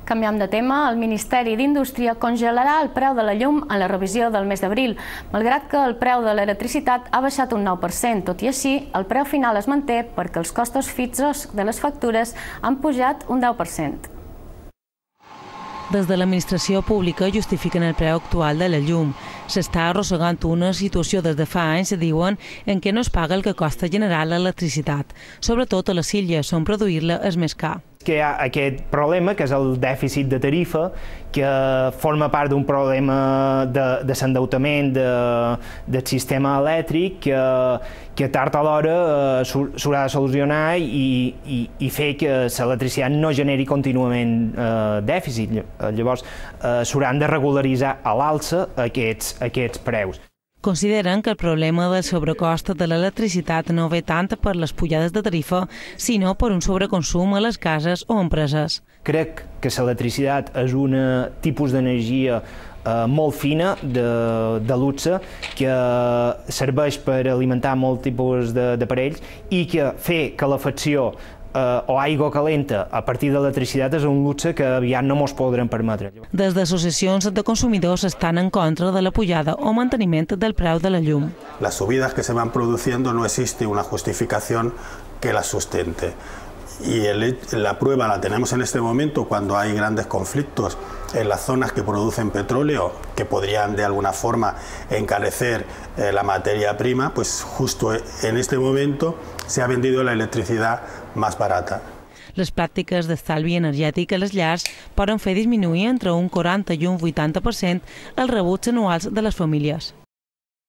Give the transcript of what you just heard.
Canviant de tema, el Ministeri d'Indústria congelarà el preu de la llum en la revisió del mes d'abril, malgrat que el preu de l'electricitat ha baixat un 9%. Tot i així, el preu final es manté perquè els costos fixos de les factures han pujat un 10%. Des de l'administració pública justifiquen el preu actual de la llum. S'està arrossegant una situació des de fa anys, diuen, en què no es paga el que costa generar l'electricitat, sobretot a les illes, on produir-la és més car. Que hi ha aquest problema, que és el dèficit de tarifa, que forma part d'un problema de l'endeutament del sistema elèctric, que tard o d'hora s'haurà de solucionar i fer que l'electricitat no generi contínuament dèficit. Llavors, s'hauran de regularitzar a l'alça aquests preus. Consideren que el problema del sobrecost de l'electricitat no ve tant per les pujades de tarifa, sinó per un sobreconsum a les cases o empreses. Crec que l'electricitat és un tipus d'energia molt fina, de luxe, que serveix per alimentar molts tipus d'aparells i que fer calefacció o aigua calenta a partir de l'electricitat és un luxe que aviat no ens podrem permetre. Des d'associacions de consumidors estan en contra de la pujada o manteniment del preu de la llum. Las subidas que se van produciendo no existe una justificación que las sustente. Y la prueba la tenemos en este momento cuando hay grandes conflictos en las zonas que producen petróleo, que podrían de alguna forma encarecer la materia prima, pues justo en este momento se ha vendido la electricidad más barata. Les pràctiques d'estalvi energètic a les llars poden fer disminuir entre un 40 i un 80% els rebuts anuals de les famílies.